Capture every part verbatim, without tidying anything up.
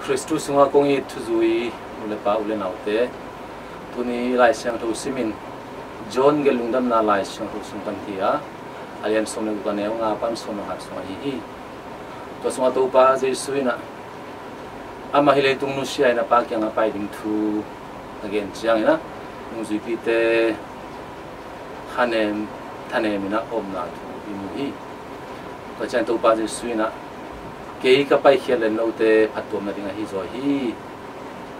Khristu sungah kong it thuzui u le pa, u le naute, tuni Lai Siangtho simin John gelh lungdamna Lai Siangtho sung pan hi a, a lian sawm le guk, a neu nga pan sawm le khat sung ahi hi. Tua sungah Topa Jesu in ah amah hih leitung nusia in a Pa kiangah pai ding thu a gen ciangin ah, nungzuipite khanem thanem in ah omna thu i mu hi. Tua ciang Topa Jesu in ah, kei ka paikhiat le note phattuamna ding ahi zaw hi.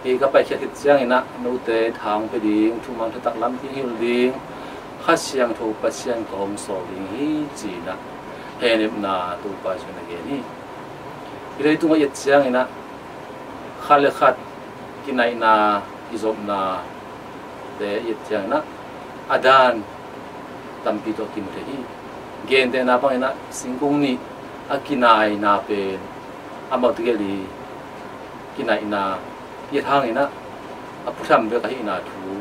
Kei ka paikhiat khit ciangin ah note tha hong pia ding, thuman thutak lampi hilh ding Kha Siangtho Pasian ka hong sawl ding hi, ci-in ah hehnepna Topa Jesu in a gen hi. Hih leitungah i et ciangin ah khat le khat kinaihna, kizopnate i et ciangin ah a dan tampi tawh kimu thei hi. Gentehna bangin ah singkung nih a kinaina pen amau tegel i kinaihna i et hangin ah a phutham bek ahihna thu,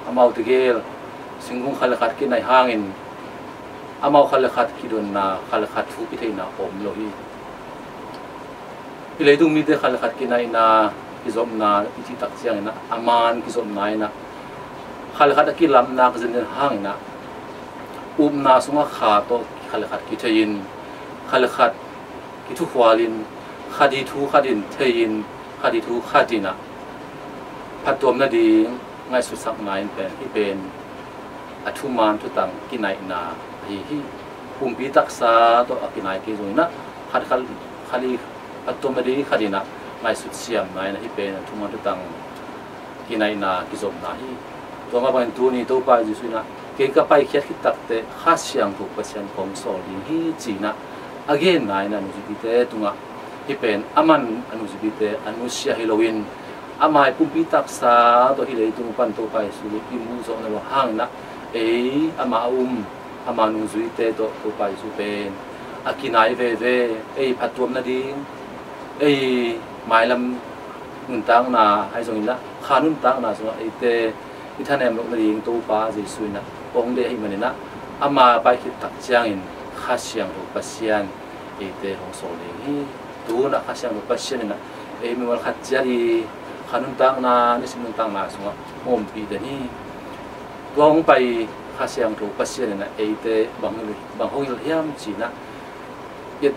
amau tegel singkung khat le khat kinaih hangin amau khat le khat kidonna, khat le khat thu kitheihna om lo hi. Hih leitung mite khat le khat kinaihna, kizopna i cih tak ciangin ah a man kizopna in ah khat le khat a kilamna ka zenzen hangin ah upna sungah kha tawh khat le khat kithei in, khat le khat kithukhual in, khat i thu khat in thei in, khat i thu khat in ah phattuamna ding ngaihsutsakna in pen, hih pen a thuman thutang kinaihna ahi hi. Pumpi taksa tawh a kinai kei zongin ah khat, khat, khat i phattuamna ding khat in ah ngaihsut siamna in ah hih pen a thuman thutang kinaihna, kizopna hi. Tua mah bangin tuni Topa Jesu in ah, kei ka paikhiat khit takteh Kha Siangtho Pasian kong sawl ding hi, ci-in ah a genna in ah nungzuipite tungah hih pen aman a nungzuipite a nusia hi loin, ama i pumpi taksa tawh hih leitung pan Topa Jesu i mu zawhna lo hangin ah ei ama a um, ama nungzuite tawh Topa Jesu pen a kinai veve, ei phattuamna ding, ei mailam nuntakna ahi zongin ah kha nuntakna sungah eite i thanem lohna ding Topa Jesu in ah hong deih ahih manin ah, ama pai khit tak ciangin Kha Siangtho Pasian eite hong sawl ding hi. Tu-in ah Kha Siangtho Pasian in ah ei mimal khat ciat i kha nuntakna, nisim nuntakna sungah hong ompih den hi. Tua hong pai Kha Siangtho Pasian in ah eite bang, bang hong hilh hiam ci-in ah i et,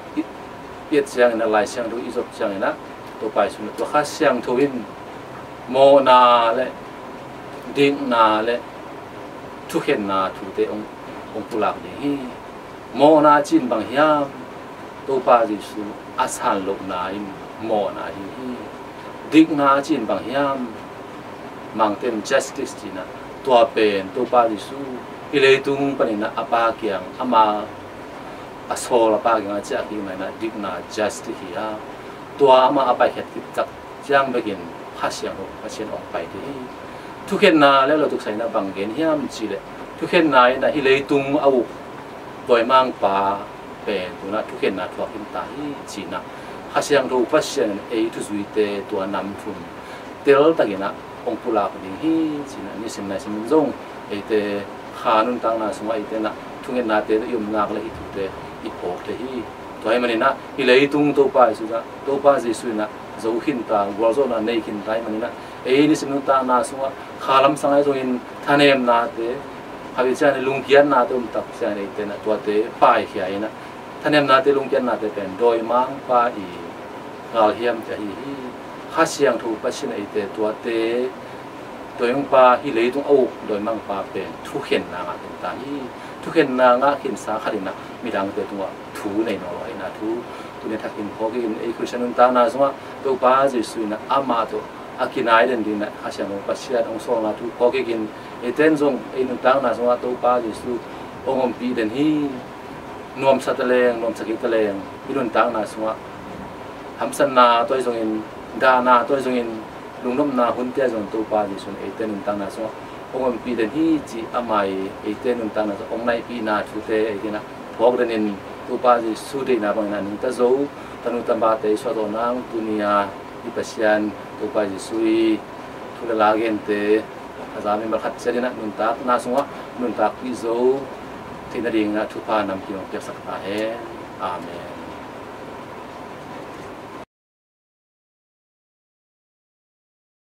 i et ciangin ah, Lai Siangtho i zop ciangin ah, Topa Jesu in ah tua Kha Siangtho in mawhna le dikna le thukhenna thute hong, hong pulak ding hi. Mawhna cih in bang hiam? Topa Jesu a san lohna in mawhna ahi hi. Dikna cih in bang hiam? Mangte in justice ci-in ah, tua pen Topa Jesu hih leitung panin ah a Pa kiang ama a sawl a Pa kiangah ciah kik in ah dikna, justice hi a, tua amah a paikhiat khit tak ciang bekin Kha Siangtho Pasian hong pai thei hi. Thukhenna le lo tuksa in ah bang gen hiam cih leh, thukhenna in ah hih leitung a uk dawimangpa pen tu-in ah thukhenna thuak khin ta hi, ci-in ah Kha Siangtho Pasian in ei thuzuite tua nam thum teltakin ah hong pulak ding hi, ci-in ah nisim naisim in zong eite kha nuntakna sungah eite in ah thungetnate tawh i om nak leh hih thute i phawk thei hi. Tua ahih manin ah hih leitung Topa Jesu in ah, Topa Jesu in ah zo khin ta, gualzawhna nei khin ta ahih manin ah, ei nisim nuntakna sungah kha lamsang ahi zongin, thanemnate, khatvei ciangin lungkiatnate om tak ciangin eite in ah tuate paikhia in ah, thanemnate, lungkiatnate pen dawimangpa i galhiamte ahi hi. Kha Siangtho Pasian in eite tuate, dawimangpa, hih leitung a uk dawimangpa pen thukhenna ngah khin ta hi. Thukhenna ngah khinsa khat in ah midangte tungah thu nei nawn lo ahihna thu tuni a thakin phawk kik in, ei Khristian nuntakna sungah Topa Jesu in ah amah tawh a kinai den dingin ah Kha Siangtho Pasian hong sawlna thu phawk kik in, eite in zong ei nuntakna sungah Topa Jesu hong ompih den hi. Nuamsa ta leng, nuamsa kei ta leng, i nuntakna sungah hamsatna tawh ahi zongin, dahna tawh ahi zongin, lungnopna hunte ah zong Topa Jesu in eite nuntakna sungah hong ompih den hi, cih ama i eite nuntakna sungah hong naihpihna thute eite in ah phawk den in, Topa Jesu deihna bangin ah nungta zo tanu tapa te i suah zawh nang, tuni a i Pasian Topa Jesu i thu le la gente a za mimal khat ciat in ah nuntakna sungah nuntakpih zo theih nadingin ah thupha namkim hong piaksak ta hen. Amen.